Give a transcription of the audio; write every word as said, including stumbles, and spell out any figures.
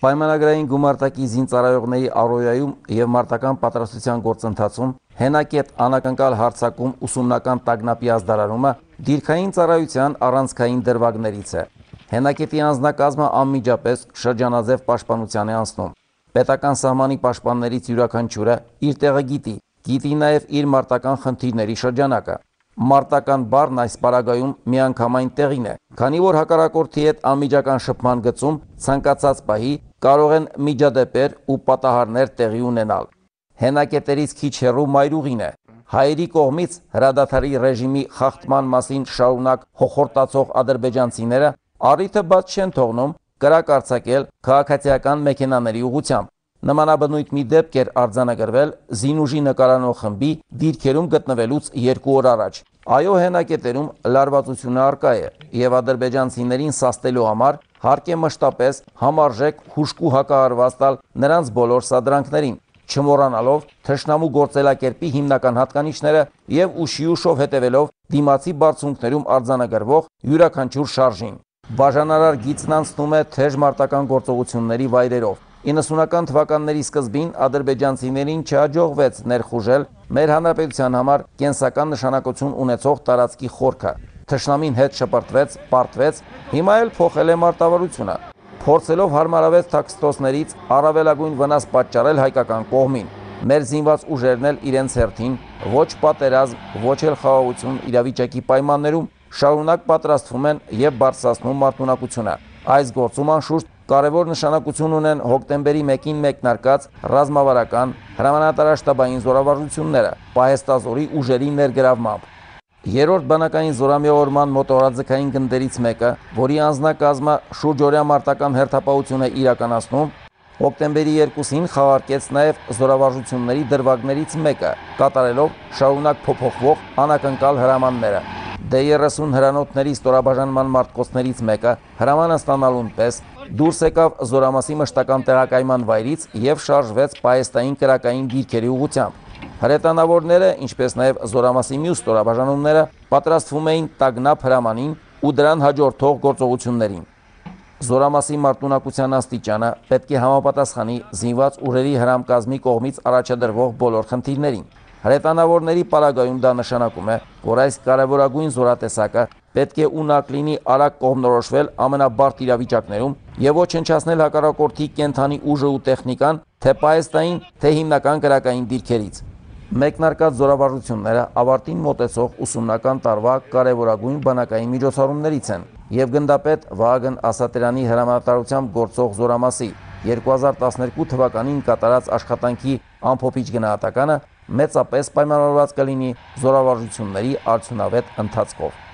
Պայմանագրային գումարտակի զինծառայողների առօրյայում և մարտական պատրաստության գործընթացում հենակետ անակնկալ հարձակում ուսումնական տագնապի ազդարարումը դիրքային ծառայության առանցքային դրվագներից է։ Հենակետի անձնակազմը անմիջապես շրջանաձև պաշտպանության է անցնում։ Պետական սահմանի պաշտպաններից յուրաքանչյուրը իր տեղը գիտի, գիտի նաև իր մարտական խնդիրների շրջանակը։ Մարտական բառն այս պարագայում միանգամայն տեղին է, քանի որ հակառակորդի հետ անմիջական շփման գծում ցանկացած պահի կարող են միջադեպեր ու պատահարներ տեղի ունենալ։ Հենակետերից քիչ հեռու մայրուղին է։ Հայերի կողմից հրադադարի ռեժիմի խախտման մասին շարունակ հոխորտացող ադրբեջանցիները առիթը բաց չեն թողնում կրակ արձակել քաղաքացիական մեքենաների ուղղությամբ։ Նմանաբնույթ մի դեպք էր արձանագրվել Զինուժի նկարանող խմբի դիրքերում գտնվելուց երկու օր առաջ։ Այո, հենակետերում լարվածությունը առկա է, եւ ադրբեջանցիներին սաստելու համար հարկ է մշտապես համարժեք հուժկու հակահարված տալ նրանց բոլոր սադրանքներին, չմոռանալով թշնամու գործելակերպի հիմնական հատկանիշները եւ ուշի ուշով հետևելով դիմացի բարձունքներում արձանագրվող յուրաքանչյուր շարժին։ Բաժանարար գիծն անցնում է թեժ մարտական գործողությունների վայրերով։ իննսունական թվականների սկզբին ադրբեջանցիներին չհաջողվեց ներխուժել մեր հանրապետության համար կենսական նշանակություն ունեցող տարածքի խորքը։ Թշնամին հետ շպրտվեց, պարտվեց, հիմա էլ փոխել է մարտավարությունը, փորձելով հարմարավետ թաքստոսներից առավելագույն վնաս պատճառել հայկական կողմին։ Մեր զինված ուժերն էլ իրենց հերթին ոչ պատերազմ, ոչ էլ խաղաղություն իրավիճակի պայմաններում շարունակ պատրաստվում են եւ բարձրացնում մարտունակությունը։ Այս գործում անշուշտ կարևոր նշանակություն ունեն հոկտեմբերի մեկին մեկնարկած ռազմավարական հրամանատարաշտաբային զորավարժությունները Պահեստազորի ուժերի ներգրավմամբ։ Երրորդ բանակային զորամիավորման մոտորաձգային գնդերից մեկը, որի անձնակազմը շուրջօրյա մարտական հերթապահություն է իրականացնում, հոկտեմբերի երկուսին խաղարկեց նաև զորավարժությունների դրվագներից մեկը, կատարելով շարունակ փոփոխվող անակնկալ հրամանները։ Դե երեսուն հրանոթների ստորաբաժանման մարտկոցներից մեկը հրամանը ստանալուն պես դուրս եկավ զորամասի մշտական տեղակայման վայրից եւ շարժվեց պահեստային կրակային դիրքերի ուղղությամբ։ Հրետանավորները, ինչպես նաև զորամասի մյուս ստորաբաժանումները պատրաստվում էին տագնապ հրամանին ու դրան հաջորդող գործողություններին։ Զորամասի մարտունակության աստիճանը պետք է համապատասխանի զինված ուժերի հրամկազմի կողմից առաջադրվող բոլոր խնդիրներին։ Հրետանավորների պարագայում դա նշանակում է, որ այս կարևորագույն զորատեսակը պետք է ունակ լինի արագ կողմնորոշվել ամենաբարդ իրավիճակներում եւ ոչնչացնել հակառակորդի կենթանի ուժը ու տեխնիկան թե պահեստային, թե հիմնական կրակային դիրքերից։ Մեկնարկած զորավարժությունները ավարտին մոտեցող ուսումնական տարվա կարևորագույն բանակային միջոցառումներից են եւ գնդապետ Վահագն Ասատրյանի հրամանատարությամբ գործող զորամասի երկու հազար տասներկու թվականին կատարած աշխատանքի ամփոփիչ գնահատականը մեծապես պայմանավորված կլինի զորավարժությունների արդյունավետ ընթացքով։